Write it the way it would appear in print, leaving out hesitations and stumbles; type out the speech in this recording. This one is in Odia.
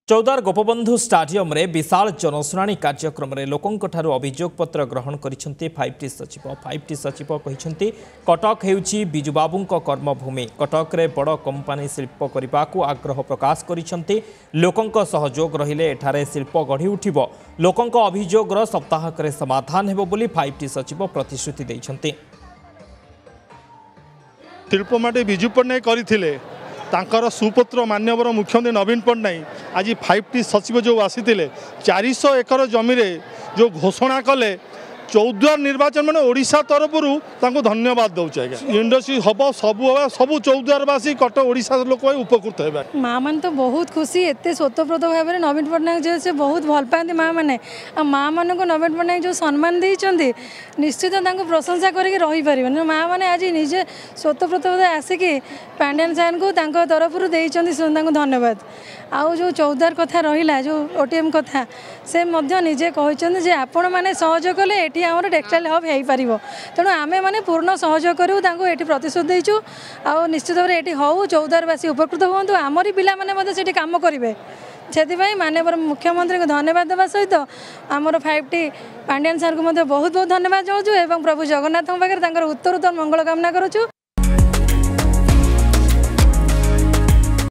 ଚୌଦ୍ୱାର ଗୋପବନ୍ଧୁ ଷ୍ଟାଡିୟମରେ ବିଶାଳ ଜନଶୁଣାଣି କାର୍ଯ୍ୟକ୍ରମରେ ଲୋକଙ୍କଠାରୁ ଅଭିଯୋଗ ପତ୍ର ଗ୍ରହଣ କରିଛନ୍ତି 5ଟି ସଚିବ। 5ଟି ସଚିବ କହିଛନ୍ତି, କଟକ ହେଉଛି ବିଜୁବାବୁଙ୍କ କର୍ମଭୂମି। କଟକରେ ବଡ଼ କମ୍ପାନୀ ଶିଳ୍ପ କରିବାକୁ ଆଗ୍ରହ ପ୍ରକାଶ କରିଛନ୍ତି। ଲୋକଙ୍କ ସହଯୋଗ ରହିଲେ ଏଠାରେ ଶିଳ୍ପ ଗଢ଼ି ଉଠିବ। ଲୋକଙ୍କ ଅଭିଯୋଗର ସପ୍ତାହକରେ ସମାଧାନ ହେବ ବୋଲି 5ଟି ସଚିବ ପ୍ରତିଶ୍ରୁତି ଦେଇଛନ୍ତି। ଶିଳ୍ପମାଟି ବିଜୁ ପଟ୍ଟନାୟକ କରିଥିଲେ, ତାଙ୍କର ସୁପୁତ୍ର ମାନ୍ୟବର ମୁଖ୍ୟମନ୍ତ୍ରୀ ନବୀନ ପଟ୍ଟନାୟକ ଆଜି 5ଟି ସଚିବ ଯେଉଁ ଆସିଥିଲେ, 400 ଏକର ଜମିରେ ଯେଉଁ ଘୋଷଣା କଲେ, ଚୌଦ୍ୱାର ନିର୍ବାଚନ ମାନେ ଓଡ଼ିଶା ତରଫରୁ ତାଙ୍କୁ ଧନ୍ୟବାଦ ଦେଉଛି ଆଜ୍ଞା। ଇଣ୍ଡଷ୍ଟ୍ରି ହେବ, ସବୁ ହେବ, ସବୁ ଚୌଦ୍ୱାରବାସୀ, କଟକ, ଓଡ଼ିଶା ଲୋକ ଉପକୃତ ହେବେ। ମା ମାନେ ତ ବହୁତ ଖୁସି। ଏତେ ସ୍ୱତଃପ୍ରୋତ ଭାବରେ ନବୀନ ପଟ୍ଟନାୟକ ଯେହେତୁ ସେ ବହୁତ ଭଲ ପାଆନ୍ତି ମା ମାନେ, ଆଉ ମା ମାନଙ୍କୁ ନବୀନ ପଟ୍ଟନାୟକ ଯେଉଁ ସମ୍ମାନ ଦେଇଛନ୍ତି, ନିଶ୍ଚିତ ତାଙ୍କୁ ପ୍ରଶଂସା କରିକି ରହିପାରିବେନି। ମା ମାନେ ଆଜି ନିଜେ ସ୍ୱତଃପ୍ରୋତ ଭାବେ ଆସିକି ପାଣ୍ଡିଆନ ସାର୍ଙ୍କୁ ତାଙ୍କ ତରଫରୁ ଦେଇଛନ୍ତି, ତାଙ୍କୁ ଧନ୍ୟବାଦ। ଆଉ ଯେଉଁ ଚୌଦ୍ୱାର କଥା ରହିଲା, ଯେଉଁ OTM କଥା, ସେ ମଧ୍ୟ ନିଜେ କହିଛନ୍ତି ଯେ ଆପଣମାନେ ସହଯୋଗ କଲେ ଏଠି ଆମର ଟେକ୍ସଟାଇଲ୍ ହବ୍ ହେଇପାରିବ। ତେଣୁ ଆମେମାନେ ପୂର୍ଣ୍ଣ ସହଯୋଗ କରିବୁ, ତାଙ୍କୁ ଏଠି ପ୍ରତିଶ୍ରୁତି ଦେଇଛୁ। ଆଉ ନିଶ୍ଚିତ ଭାବରେ ଏଠି ହଉ, ଚୌଦ୍ୱାରବାସୀ ଉପକୃତ ହୁଅନ୍ତୁ, ଆମରି ପିଲାମାନେ ମଧ୍ୟ ସେଠି କାମ କରିବେ। ସେଥିପାଇଁ ମାନ୍ୟବର ମୁଖ୍ୟମନ୍ତ୍ରୀଙ୍କୁ ଧନ୍ୟବାଦ ଦେବା ସହିତ ଆମର 5ଟି ପାଣ୍ଡିଆନ ସାର୍ଙ୍କୁ ମଧ୍ୟ ବହୁତ ବହୁତ ଧନ୍ୟବାଦ ଜଣାଉଛୁ ଏବଂ ପ୍ରଭୁ ଜଗନ୍ନାଥଙ୍କ ପାଖରେ ତାଙ୍କର ଉତ୍ତରୋତ୍ତର ମଙ୍ଗଳ କାମନା କରୁଛୁ।